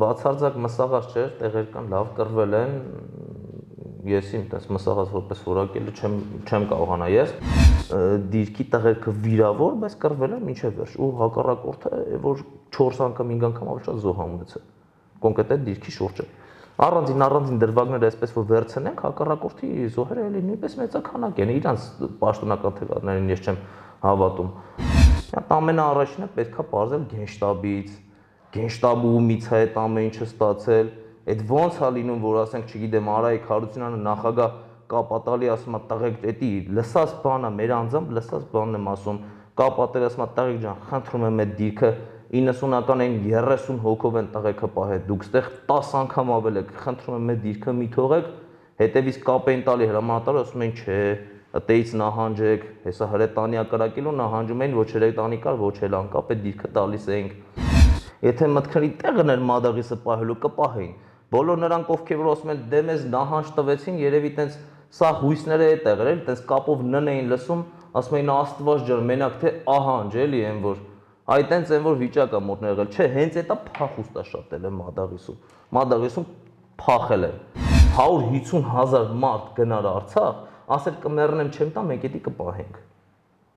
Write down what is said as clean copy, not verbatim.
Բացարձակ մսաղած չէր, տեղեր կան, լավ կռվել են, ես իմ տես մսաղած որպես որակելը չեմ կարողանա ես, դիրքի տղերքը վիրավոր, բայց կռվել են մինչև վերջ, ու հակառակորդը, որ 4 անգամ 5 անգամ ավելի շատ զոհ ունեցել, կոնկրետ այդ դիրքի շուրջը։ Առանձին դրվագները այսպես որ վերցնենք, հակառակորդի զոհերը էլի նույնպես մեծականակ են, իրանց պաշտոնական թվերներին ես չեմ հավատում։ Ամենաառաջինը պետքա պարզել գենշտաբից, գենշտաբումից է այդ ամեն ինչը ստացել, այդ ոնց է լինում, որ ասենք, չգիտեմ, Արայիկ Հարությունյանը նախագահ կա պատալի ասում է տղեկ, էդի լսած բան է, մեր անձամբ լսած բանն եմ ասում, կա պատել ասում է տղեկ ջան, խնդրում եմ այդ դիրքը 90-ական այն 30 հոգով են տղեկը պահել, դուք ստեղ 10 անգամ ավել եք, խնդրում եմ այդ դիրքը մի թողեք, հետևից կապ են տալի հրամանատարը ասում են չէ, ըտեից նահանջեք, հեսա հրետանի ակրակելու նահանջում էին, ոչ հրետանի կար, ոչ էլ անկապ այդ դիրքը տալիս էինք։ Եթե մտքերի տեղն էր մադաղիսը պահելու կպահեին, բոլոր նրանք ովքեր որ ասում են դե մեզ նահանջ տվեցին, երևի տենց սա հույսները է տեղեր էլ, տենց կապով նն էին լսում, ասում էին Աստված ջան, մենակ թե ահանջ էլի են որ Այ տենց են որ վիճակա մոտ եղել, չէ, հենց էտա փախուստ է շատել է Մադաղիսում փախել են 150,000 մարդ գնար Արցախ, ասել կմեռնեմ չեմ տա, մենք էդի կպահենք։